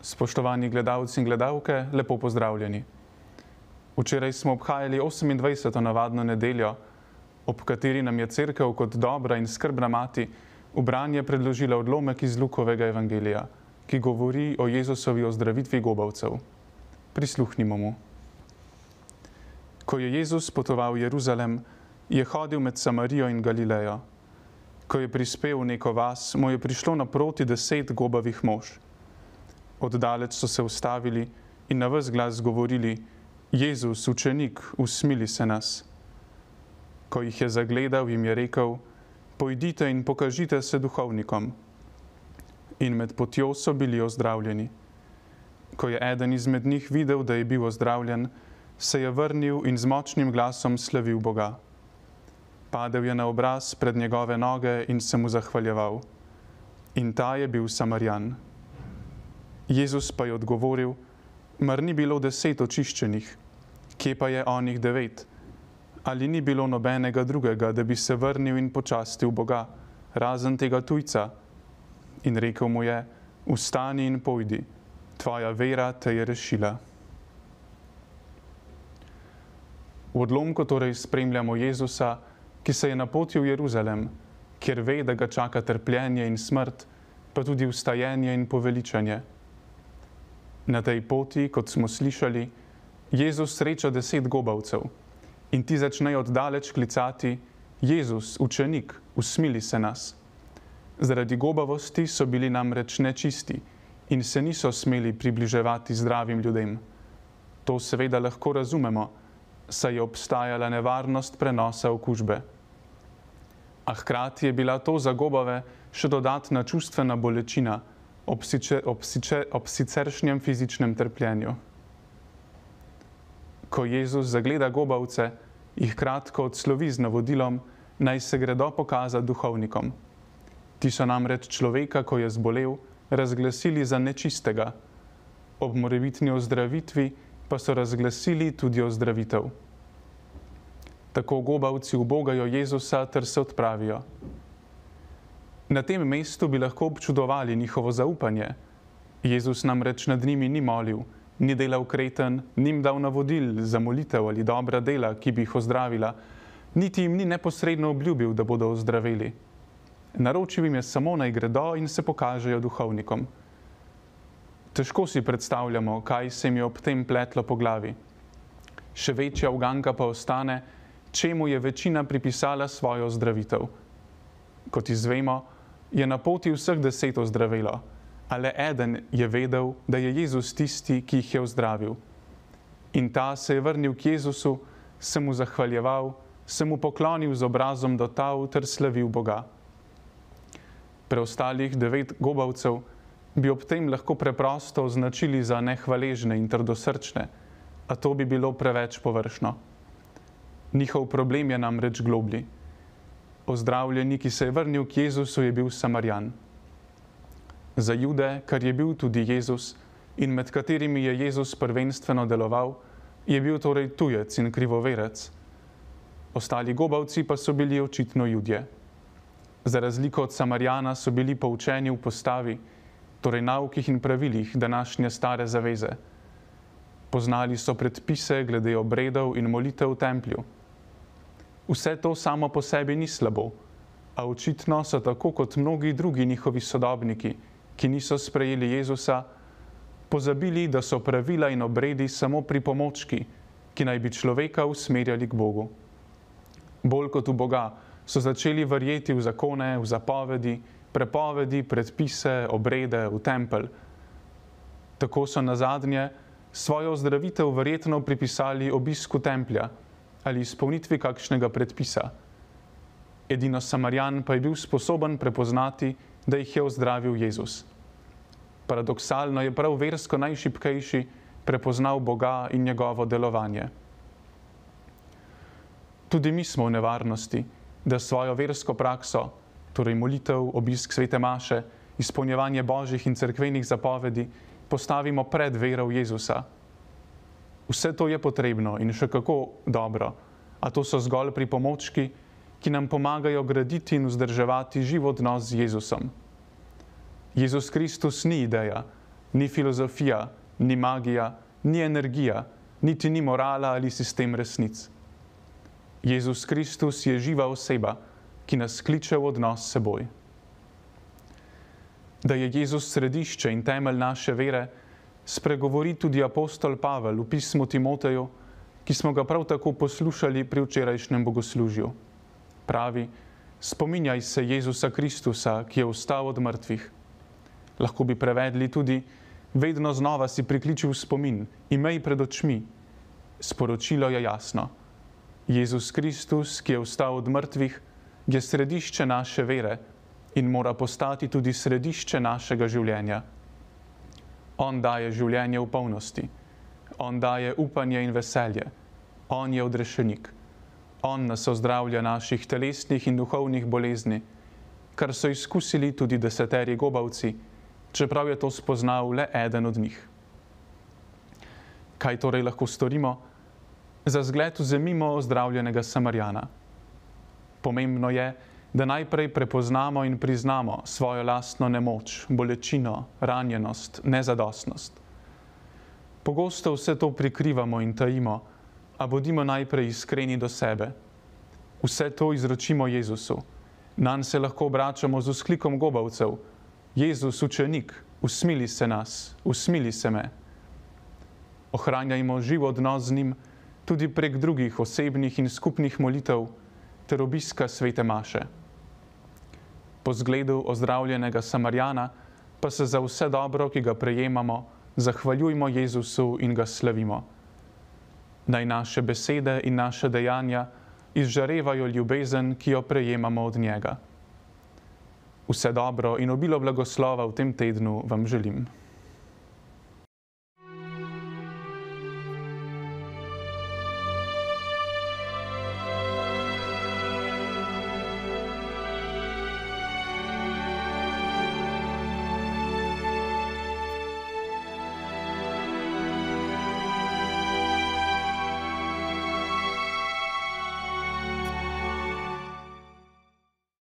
Spoštovani gledalci in gledalke, lepo pozdravljeni. Včeraj smo obhajali 28. navadno nedeljo, ob kateri nam je Cerkev kot dobra in skrbna mati v branje predložila odlomek iz Lukovega evangelija, ki govori o Jezusovi ozdravitvi gobavcev. Prisluhnimo mu. Ko je Jezus potoval v Jeruzalem, je hodil med Samarijo in Galilejo. Ko je prispel v neko vas, mu je prišlo naproti 10 gobavih mož. Oddaleč so se ustavili in na ves glas govorili: Jezus, učenik, usmili se nas. Ko jih je zagledal, jim je rekel: Pojdite in pokažite se duhovnikom. In med potjo so bili ozdravljeni. Ko je eden izmed njih videl, da je bil ozdravljen, se je vrnil in z močnim glasom slavil Boga. Padel je na obraz pred njegove noge in se mu zahvaljeval. In ta je bil Samarijan. Jezus pa je odgovoril: Mar ni bilo 10 očiščenih? Kje pa je onih 9? Ali ni bilo nobenega drugega, da bi se vrnil in počastil Boga, razen tega tujca? In rekel mu je: Vstani in pojdi, tvoja vera te je rešila. V odlomku torej spremljamo Jezusa, ki se je napotil v Jeruzalem, kjer ve, da ga čaka trpljenje in smrt, pa tudi vstajenje in poveličanje. Na tej poti, kot smo slišali, Jezus sreča 10 gobavcev in ti začnejo oddaleč klicati: Jezus, učenik, usmili se nas. Zaradi gobavosti so bili namreč nečisti in se niso smeli približevati zdravim ljudem. To seveda lahko razumemo, saj je obstajala nevarnost prenosa okužbe. A hkrati je bila to za gobave še dodatna čustvena bolečina ob siceršnjem fizičnem trpljenju. Ko Jezus zagleda gobavce, jih kratko odslovi z navodilom, naj se gredo pokazati duhovnikom. Ti so namreč človeka, ko je zbolel, razglasili za nečistega. Ob morebitni ozdravitvi pa so razglasili tudi ozdravitev. Tako gobavci ubogajo Jezusa ter se odpravijo. Na tem mestu bi lahko občudovali njihovo zaupanje. Jezus namreč nad njimi ni molil, ni delal kreten, ni jim dal navodil za molitev ali dobra dela, ki bi jih ozdravila, niti jim ni neposredno obljubil, da bodo ozdraveli. Naročil jim je samo, naj gredo in se pokažejo duhovnikom. Težko si predstavljamo, kaj se jim je ob tem pletlo po glavi. Še večja uganka pa ostane, čemu je večina pripisala svojo ozdravitev. Kot izvemo, je na poti vseh 10 ozdravelo, a le eden je vedel, da je Jezus tisti, ki jih je ozdravil. In ta se je vrnil k Jezusu, se mu zahvaljeval, se mu poklonil z obrazom do tal ter slavil Boga. Preostalih 9 gobavcev bi ob tem lahko preprosto označili za nehvaležne in trdosrčne, a to bi bilo preveč površno. Njihov problem je namreč globlji. Ozdravljeni, ki se je vrnil k Jezusu, je bil Samarijan. Za Jude, kar je bil tudi Jezus in med katerimi je Jezus prvenstveno deloval, je bil torej tujec in krivoverec. Ostali gobavci pa so bili očitno Judje. Za razliko od Samarijana so bili poučeni v postavi, torej naukih in pravilih današnje stare zaveze. Poznali so predpise glede obredov in molitev v templju. Vse to samo po sebi ni slabo, a očitno so tako kot mnogi drugi njihovi sodobniki, ki niso sprejeli Jezusa, pozabili, da so pravila in obredi samo pripomočki, ki naj bi človeka usmerjali k Bogu. Bolj kot v Boga so začeli verjeti v zakone, v zapovedi, prepovedi, predpise, obrede, v tempelj. Tako so nazadnje svojo ozdravitev verjetno pripisali obisku templja ali izpolnitvi kakšnega predpisa. Edino Samarijan pa je bil sposoben prepoznati, da jih je ozdravil Jezus. Paradoksalno je prav versko najšibkejši prepoznal Boga in njegovo delovanje. Tudi mi smo v nevarnosti, da svojo versko prakso, torej molitev, obisk svete maše, izpolnjevanje božjih in cerkvenih zapovedi, postavimo pred vero v Jezusa. Vse to je potrebno in še kako dobro, a to so zgolj pripomočki, ki nam pomagajo graditi in vzdrževati živ odnos z Jezusom. Jezus Kristus ni ideja, ni filozofija, ni magija, ni energija, niti ni morala ali sistem resnic. Jezus Kristus je živa oseba, ki nas kliče v odnos s seboj. Da je Jezus središče in temelj naše vere, spregovori tudi apostol Pavel v pismu Timoteju, ki smo ga prav tako poslušali pri včerajšnjem bogoslužju. Pravi: spominjaj se Jezusa Kristusa, ki je vstal od mrtvih. Lahko bi prevedli tudi: vedno znova si prikliči v spomin, imej pred očmi. Sporočilo je jasno. Jezus Kristus, ki je vstal od mrtvih, je središče naše vere in mora postati tudi središče našega življenja. On daje življenje v polnosti. On daje upanje in veselje. On je odrešenik. On nas ozdravlja naših telesnih in duhovnih bolezni, kar so izkusili tudi 10 gobavci, čeprav je to spoznal le eden od njih. Kaj torej lahko storimo? Za zgled vzemimo ozdravljenega Samarijana. Pomembno je, da najprej prepoznamo in priznamo svojo lastno nemoč, bolečino, ranjenost, nezadostnost. Pogosto vse to prikrivamo in tajimo, a bodimo najprej iskreni do sebe. Vse to izročimo Jezusu. Nanj se lahko obračamo z vzklikom gobavcev: Jezus, učenik, usmili se nas, usmili se me. Ohranjajmo živ odnos z njim tudi prek drugih osebnih in skupnih molitev ter obiska svete maše. Po zgledu ozdravljenega Samarijana pa se za vse dobro, ki ga prejemamo, zahvaljujmo Jezusu in ga slavimo. Naj naše besede in naše dejanja izžarevajo ljubezen, ki jo prejemamo od njega. Vse dobro in obilo blagoslova v tem tednu vam želim.